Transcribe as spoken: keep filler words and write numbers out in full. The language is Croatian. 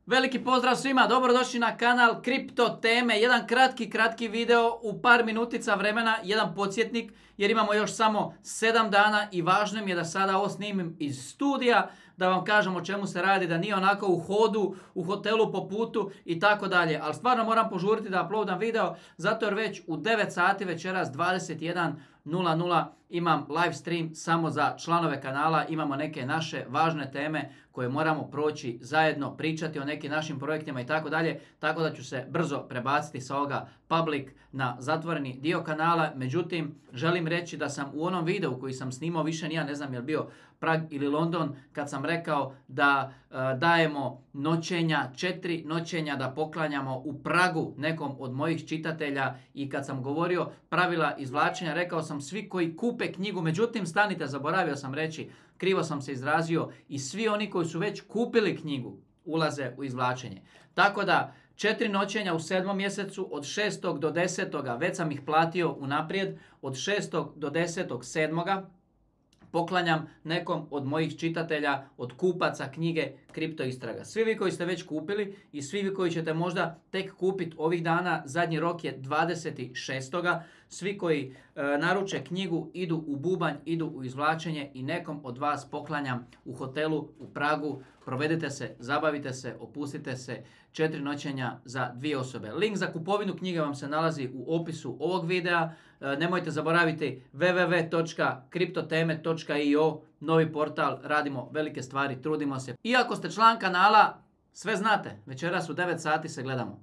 Veliki pozdrav svima, dobrodošli na kanal Kripto teme, jedan kratki, kratki video u par minutica vremena, jedan podsjetnik jer imamo još samo sedam dana i važno mi je da sada ovo snimim iz studija, da vam kažem o čemu se radi, da nije onako u hodu, u hotelu po putu i tako dalje. Ali stvarno moram požuriti da uploadam video, zato jer već u devet sati večeras dvadeset jedan nula nula imam live stream samo za članove kanala, imamo neke naše važne teme koje moramo proći zajedno, pričati o nekim našim projektima i tako dalje, tako da ću se brzo prebaciti sa ovoga public na zatvoreni dio kanala. Međutim, želim reći da sam u onom videu koji sam snimao, više ni ja ne znam je li bio Prag ili London, kad sam rekao da e, dajemo noćenja, četiri noćenja da poklanjamo u Pragu nekom od mojih čitatelja, i kad sam govorio pravila izvlačenja, rekao sam svi koji kupe knjigu, međutim stanite, zaboravio sam reći, krivo sam se izrazio, i svi oni koji su već kupili knjigu ulaze u izvlačenje. Tako da četiri noćenja u sedmom mjesecu od šestog do desetog već sam ih platio unaprijed, od šestog do desetog sedmoga poklanjam nekom od mojih čitatelja, od kupaca knjige Kripto istraga. Svi vi koji ste već kupili i svi vi koji ćete možda tek kupiti ovih dana, zadnji rok je dvadeset šestog Svi koji e, naruče knjigu idu u bubanj, idu u izvlačenje i nekom od vas poklanjam u hotelu u Pragu. Provedite se, zabavite se, opustite se, četiri noćenja za dvije osobe. Link za kupovinu knjige vam se nalazi u opisu ovog videa. E, nemojte zaboraviti w w w točka kriptoteme točka i o, novi portal, radimo velike stvari, trudimo se. Iako ste član kanala, sve znate, večeras u devet sati se gledamo.